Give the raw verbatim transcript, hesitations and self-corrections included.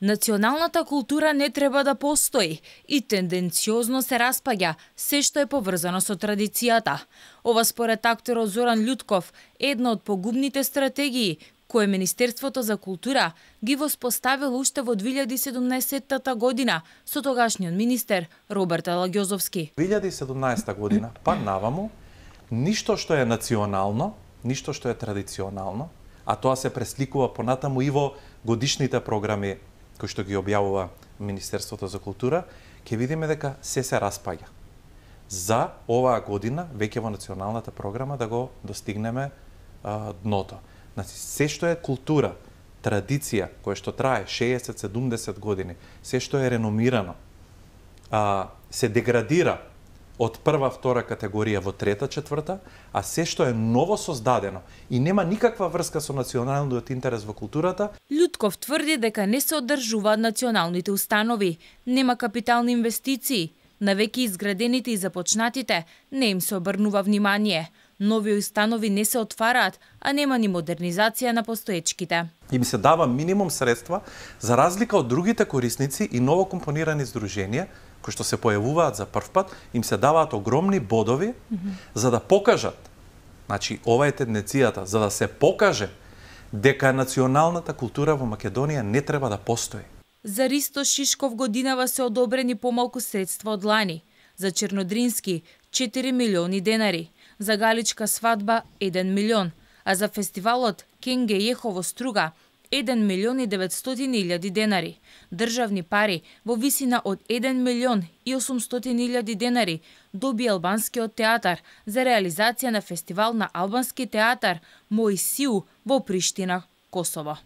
Националната култура не треба да постои и тенденциозно се распаѓа се што е поврзано со традицијата. Ова според акторот Зоран Љутков е една од погубните стратегии кое Министерството за култура ги воспоставило уште во две илјади и седумнаесетта година со тогашниот министер Роберт Алагјозовски. две илјади и седумнаесетта година, па наваму, ништо што е национално, ништо што е традиционално, а тоа се пресликува понатаму и во годишните програми кои што ги објавува Министерството за култура, ќе видиме дека се се распаѓа. За оваа година, веќе во националната програма, да го достигнеме а, дното. Значи, се што е култура, традиција, која што трае шеесет до седумдесет години, се што е реномирано, а, се деградира од прва, втора категорија во трета, четврта, а се што е ново создадено и нема никаква врска со националниот интерес во културата. Љутков тврди дека не се одржуваат националните установи, нема капитални инвестиции, на веќе изградените и започнатите не им се обрнува внимание. Нови установи не се отвараат, а нема ни модернизација на постоечките. Им се дава минимум средства за разлика од другите корисници и ново компонирани здруженија кои што се појавуваат за прв пат, им се даваат огромни бодови mm -hmm. за да покажат, значи ова е тенденцијата, за да се покаже дека националната култура во Македонија не треба да постои. За Ристо Шишков годинава се одобрени помалку средства од лани, за Чернодрински четири милиони денари, за Галичка свадба еден милион, а за фестивалот Кенге Јехово Струга еден милион и деветстотини илјади денари. Државни пари во висина од еден милион и осумстотини илјади денари доби албанскиот театар за реализација на фестивал на албански театар Мој Сиу во Приштина, Косово.